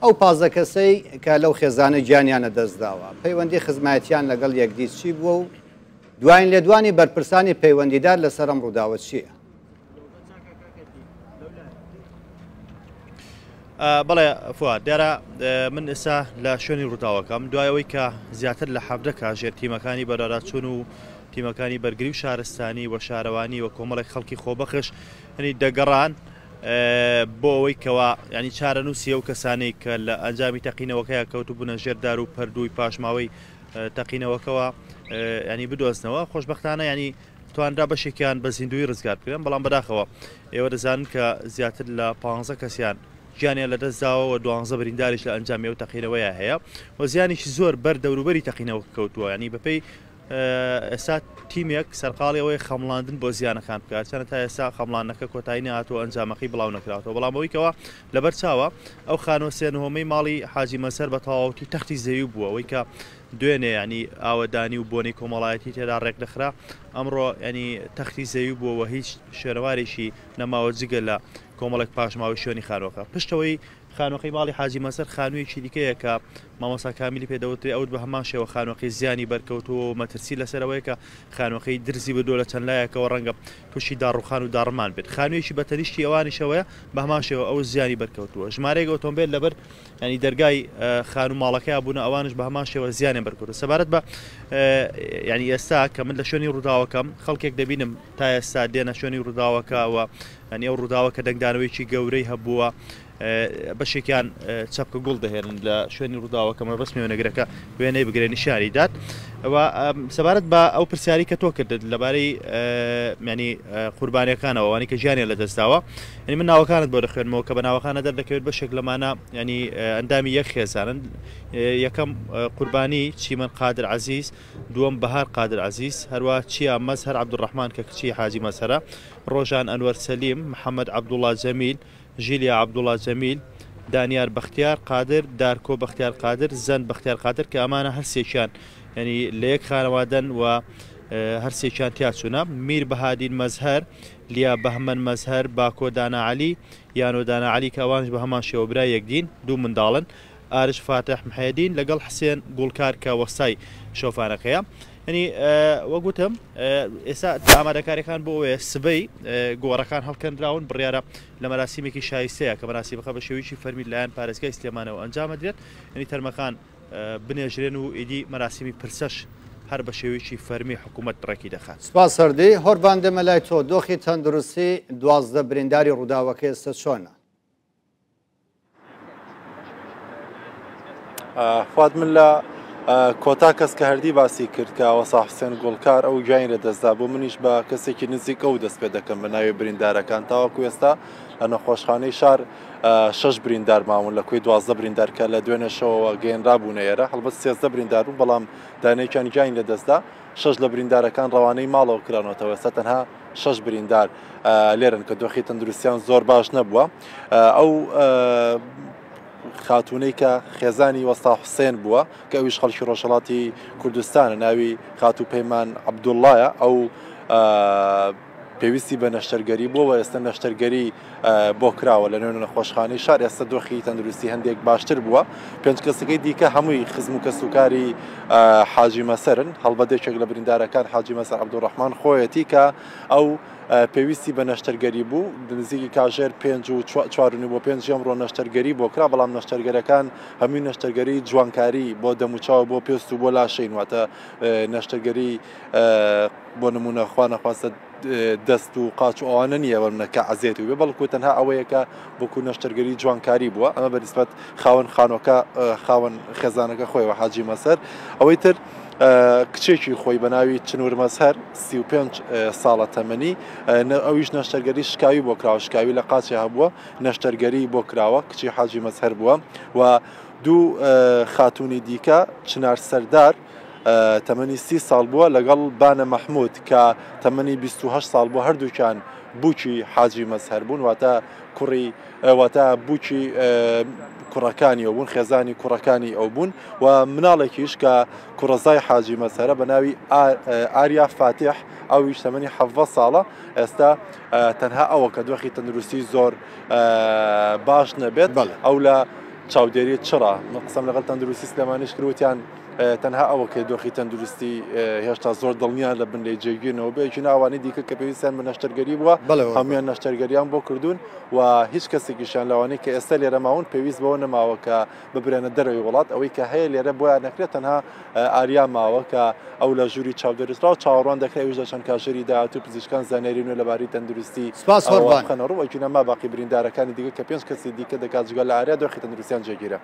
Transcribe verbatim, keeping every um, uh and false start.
ئەو پازدە کەسەی کە لەو خێزانە گیانیانە دەستداوە پەیوەندی خزمایەتیان لەگەڵ یەکدی چی بووە و دوایین لێدوانی بەرپرسانی پەیوەندیدار لەسەر ئەم ڕووداوە چییە؟ بەڵێ فواد، دیارە من ئێستا لە شوێنی ڕووداوەکەم دوای ئەوەی کە زیاتر لە حەڤدە کاژێر تیمەکانی بەرەراچوون و تیمەکانی بەرگری و شارستانی و شارەوانی و کۆمەڵێک خەڵکی خۆبەخش ینی دەگەڕان بۆ ئەوەی کەوا ینی چارەنووسی ئەو کەسانەی کە لە ئەنجامی تەقینەوەکەیە کەوتبوونە ژێر دار و پەردووی پاشماوەی تەقینەوەکەوە ینی بدۆزنەوە. خۆشبەختانە ینی توانرا بەشێکیان بە زیندوی ڕزگار بکرێن، بەڵام بەداخەوە ئێوە دەزانن کە زیاتر لە پانزە کەسیان گیانیان لەدەستداوە و دوانزە برینداریش لە ئەنجامی ئەو تەقینەوەیە هەیە و زیانێکی زۆر بەر دەوروبەری تەقینەوە کەوتووە. ینی بەپێی ئێستا تیمێک سەرقاڵی ئەوەی خەمڵاندن بۆ زیانەکان بکات، چەنە تا ئێستا خەمڵاندنەکە کۆتایی نەهاتووە، ئەنجامەکەی بڵاو نەکراوەتەوە. بەڵام ئەوەی کەوا لەبەر چاوە ئەو خانووە سێنهۆمەی ماڵی حاجی مەسەر بە تەواوەتی تەختی زەوی بووە، ئەوەی کە دوێنێ ینی ئاوەدانی و بۆنەی کۆمەڵایەتی تێدا ڕێکدەخرا، ئەمڕۆ ینی تەختی زەوی بووەوە، هیچ شوێنەوارێکی نەماوە جگە لە کۆمەڵێک پاشماوەی شوێنی خانووەکە. پشتەوەی خانووەکەی ماڵی حاجی مەسەر خانوویەکی دیکەیە کە مامۆستا کامیلی پێدەوترێ، ئەوت بە هەمان شێوە خانووەکەی زیانی بەرکەوتووە و مەترسی لەسەرەوەیە کە خانووەکەی درزی بردووە لە چەند لایەکەوە، ڕەنگە تووشی داڕوخان و داڕمان بێت. خانوویەکی بە تەنیشتی ئەوانیشەوەیە بە هەمان شێوە ئەو زیانی بەرکەوتووە. ژمارەیەک ئۆتۆمبیل لەبەر ینی دەرگای خانوو ماڵەکەیا بوونە، ئەوانش بە هەمان شێوە زیانیان بەرکەوتووە. سەبارەت بە ینی ئێستا کە من لە شوێنی ڕووداوەکەم خەڵکێک دەبینم تا ئێستا دێنە شوێنی ڕووداوەکە و ینی ئەو ڕووداوە کە دەنگدانەوەیەکی گەورەی هەبووە، بەشێکیان چەپکە گوڵ دەهێنن لە شوێنی ڕووداوەکە، مەبەست وێنەگرەکە وێنەی بگرێ نیشانی دات. سەبارەت بە ئەو پرسیاری کە تۆ کردت لەبارەی ینی قوربانیەکانەوە ئەوانەی کە ژیانیان لەدەستداوە، ینی من ناوەکانت بۆ دەخوێنمەوە کە بە ناوەکانە دەردەکەوێت بەشێک لەمانە ینی ئەندامی یەک خێزانن. یەکەم قوربانی چیمەن قادر عەزیز، دووەم بەهار قادر عەزیز، هەروە چیا مەزهەر عەبدولڕەحمان کە کچی حاجی مەزهەرە، ڕۆژان ئەنوەر سەلیم، محەممەد عەبدوڵڵا جەمیل، ژیلیا عەبدوڵڵا جەمیل، دانیار بەختیار قادر، دارکۆ بەختیار قادر، زەند بەختیار قادر کە ئەمانە هەرسێکیان ینی لە یەک خانەوادەن و هەرسێکیان تیاچوونە. میر بەهادین مەزهەر، لیا بەهمەن مەزهەر، باکۆ دانا عەلی، یانۆ دانا عەلی کە ئەوانش بە هەمان شێوە برای یەکدین، دوو منداڵن، ئارش فاتح محێدین لەگەڵ حسێن گوڵکار کە وەستای شۆفانەکەیە. ینی وەگوتم ئێستا ئامادەکاریەکان بۆ ئەوەیە سبەی گۆڕەکان هەڵکەندراون، بڕیارە لە مەراسیمێکی شایستەیە کە مەراسیمەکە بە شێوەیەکی فەرمی لایەن پارێزگای سلێمانەوە ئەنجامەدرێت، ینی تەرمەکان بنێژرێن و ئیدی مەراسیمی پرسەش هەر بە شێوەیەکی فەرمی حکوومەت ڕێکی دەخات. سپاس هەردی. هۆربان دێمە لای تۆ، دۆخی تەندروستی دوازدە برینداری ڕووداوەکە ئێستا چۆنە؟ فواد، من لە کۆتا کەس کە هەردی باسی کرد کە وەسا حوسێن گوڵکار ئەو گیانی لەدەستدا بوو، منیش بە کەسێکی نزیک ئەو دەست پێ دەکەم بە ناوی بریندارەکان. تاوەکو ئێستا لە نەخۆشخانەی شار شەش بریندار ماون لە کۆی دوازدە بریندار کە لە دوێنێ شەوەوە گەیەنرا بوونە ئێرە. هەڵبەت سێزدە بریندار بوون، بەڵام دانەیەکیان گیانی لەدەستدا. شەش لە بریندارەکان ڕەوانەی ماڵەوە کرانەوەتەوە، ئێستا تەنها شەش بریندار لێرن کە دۆخی تەندروستیان زۆر باش نەبووە. ئەو خاتوونەی کە خێزانی وەستا حوسێن بووە کە ئەویش خەڵکی ڕۆژهەڵاتی کوردستانە، ناوی خاتوو پەیمان عەبدوڵڵایە، ئەو پێویستی بە نەشتەرگەری بووە و ئێستا نەشتەرگەری بۆ کراوە لە نوێ نەخۆشخانەی شار. ئێستا دۆخی تەندروستی هەندێک باشتر بووە. پێنج کەسەکەی دیکە هەمووی خزم و کەسوکاری حاجی مەسەرن. هەڵبەت یەکێک لە بریندارەکان حاجی مەسەر عەبدولڕەحمان خۆیەتی کە ئەو پێویستی بە نەشتەرگەری بوو، نزیکی کاژێر پێنج و چوار و نیو بۆ پێنج ئەمڕۆ نەشتەرگەری بۆ کرا، بەڵام نەشتەرگەرەکان هەمووی نەشتەرگەری جوانکاری بۆ دەموچاو بۆ پێست و بۆ لاشەین، واتە نەشتەرگەری بۆ نمونە خوا نەخواستە دەست و قاچ و ئەوانە نییە بەمنە کە عەزێت بێ، بەڵکو تەنها ئەوەیە کە بۆکو نەشتەرگەری جوانکاری بووە. ئەمە بەنسبەت خاوەن خانۆکە خاوەن خێزانەکە خۆیەوە حاجی مەسەر. ئەوەی تر کچێکی خۆی بە ناوی چنور مەزهەر سی و پێنج ساڵە تەمەنی، ئەویش نەشتەرگەری شکاوی بۆ کراوە، شکاوی لە قاچی هەبووە، نەشتەرگەری بۆ کراوە، کچی حاجی مەزهەر بووە. و دوو خاتوونی دیکە چنار سەردار تەمەنی سی ساڵ بووە لەگەڵ بانە مەحمود کە تەمەنی بیست و هەشت ساڵ بووە، هەردووکیان بووکی حاجی مەزهەر بوون، واتە کوڕی واتە بووکی کوڕەکانی ئەو بوون، خێزانی کوڕەکانی ئەو بوون. و مناڵێکیش کە کوڕەزای حاجی مەزهەرە بە ناوی ئاریا فاتیح، ئەویش تەمەنی حەڤدە ساڵە. ئێستا تەنها ئەوە کە دۆخی تەندروستی زۆر باش نەبێت، ئەو لە چاودێری چڕە. من قسەم لەگەڵ تەندروستی سلێمانیش کردوتیان تەنها ئەوە کە دۆخی تەندروستی هێشتا زۆر دڵنیان لە بن لێ جێگیرنەوە بێ، ناوانی دیکە کە پێویستیان بە نەشتەرگەری بووە هەمویان نەشتەرگەریان بۆ کردوون و هیچ کەسێکیشیان لەوانەی کە ئێستا لێرە ماون پێویست بەوە نەماوە کە ببرێنە دەرەوەی وڵات. ئەوەی کە هەیە لێرە بۆیان نەکرێت تەنها ئاریا ماوە کە ئەو لە ژووری چاودێریسرا و چاوەڕوان دەکرێت ئەویش لە چەند کاژێری داهاتوو پزیشکان زانیاری نوێ لەبارەی تەندروستی بخەنە ڕوو. ئەگینا ما باقی بریندارەکانی دیکە کە پێنج کەسی دیکە دەکات جگە لە ئاریا دۆخی تەندروستیان جێگیرە.